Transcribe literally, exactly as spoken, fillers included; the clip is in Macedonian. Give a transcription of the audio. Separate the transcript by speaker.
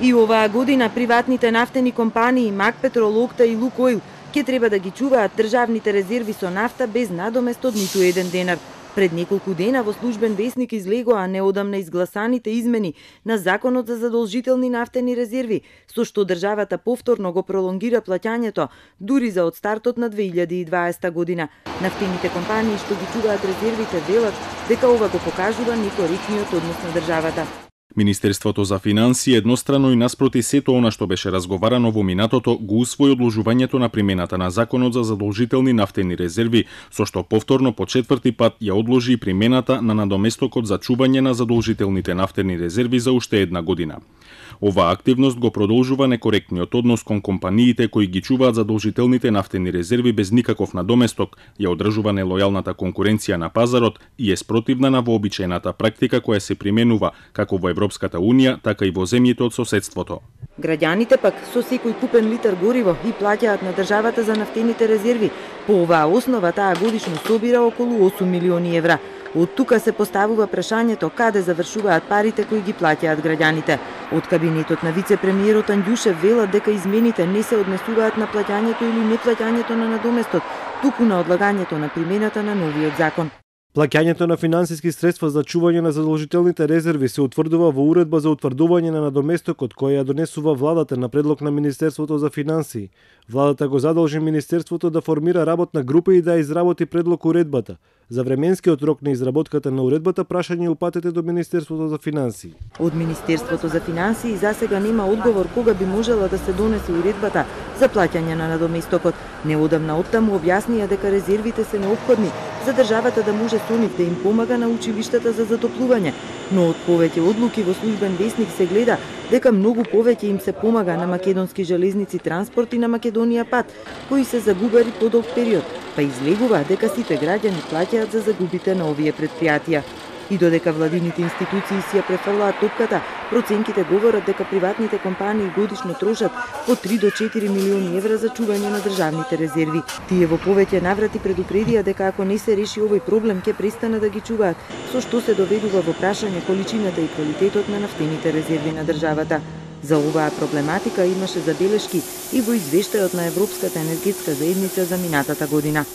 Speaker 1: И оваа година приватните нафтени компании Макпетрол, Окта и Лукойл ќе треба да ги чуваат државните резерви со нафта без надомест од ниту еден денар. Пред неколку дена во Службен весник излегоа неодамна изгласаните измени на Законот за задолжителни нафтени резерви, со што државата повторно го пролонгира плаќањето дури за од стартот на две илјади и дваесета година. Нафтените компании што ги чуваат резервите велат дека ова го покажува некоректниот однос на државата.
Speaker 2: Министерството за финансии еднострано и наспроти сето она што беше разговарано во минатото го усвои одложувањето на примената на Законот за задолжителни нафтени резерви, со што повторно по четврти пат ја одложи и примената на надоместокот за чување на задолжителните нафтени резерви за уште една година. Оваа активност го продолжува некоректниот однос кон компаниите кои ги чуваат задолжителните нафтени резерви без никаков надоместок, ја одржува нелојалната конкуренција на пазарот и е спротивна на вообичаената практика која се применува како во Европската унија, така и во земјите од соседството.
Speaker 1: Граѓаните пак со секој купен литар гориво и плаќаат на државата за нафтените резерви. По оваа основа таа годишно собира околу осум милиони евра. Од тука се поставува прашањето каде завршуваат парите кои ги плаќаат граѓаните. Од кабинетот на вице-премиерот Анѓушев велат дека измените не се однесуваат на плаќањето или неплаќањето на надоместот, туку на одлагањето на примената на новиот закон.
Speaker 3: Плаќањето на финансиски средства за чување на задолжителните резерви се утврдува во уредба за утврдување на надоместокот која ја донесува владата на предлог на Министерството за финансии. Владата го задолжи Министерството да формира работна група и да изработи предлог уредбата. За временскиот рок на изработката на уредбата прашање упатете до Министерството за финансии.
Speaker 1: Од Министерството за финансии засега нема одговор кога би можела да се донесе уредбата за плаќање на надоместокот. Неодамна оттаму објаснија дека резервите се неопходни за државата да може со нив да им помага на училиштата за затоплување, но од повеќе одлуки во Службен весник се гледа дека многу повеќе им се помага на Македонски железници транспорт и на Македонија пат, кои се загубари подолг период, па излегува дека сите граѓани плаќаат за загубите на овие претпријатија. И додека владините институции си ја префрлаат топката, проценките говорат дека приватните компании годишно трошат по три до четири милиони евра за чување на државните резерви. Тие во повеќе наврати предупредија дека ако не се реши овој проблем ќе престанат да ги чуваат, со што се доведува во прашање количината и квалитетот на нафтените резерви на државата. За оваа проблематика имаше забелешки и во извештајот на Европската енергетска заедница за минатата година.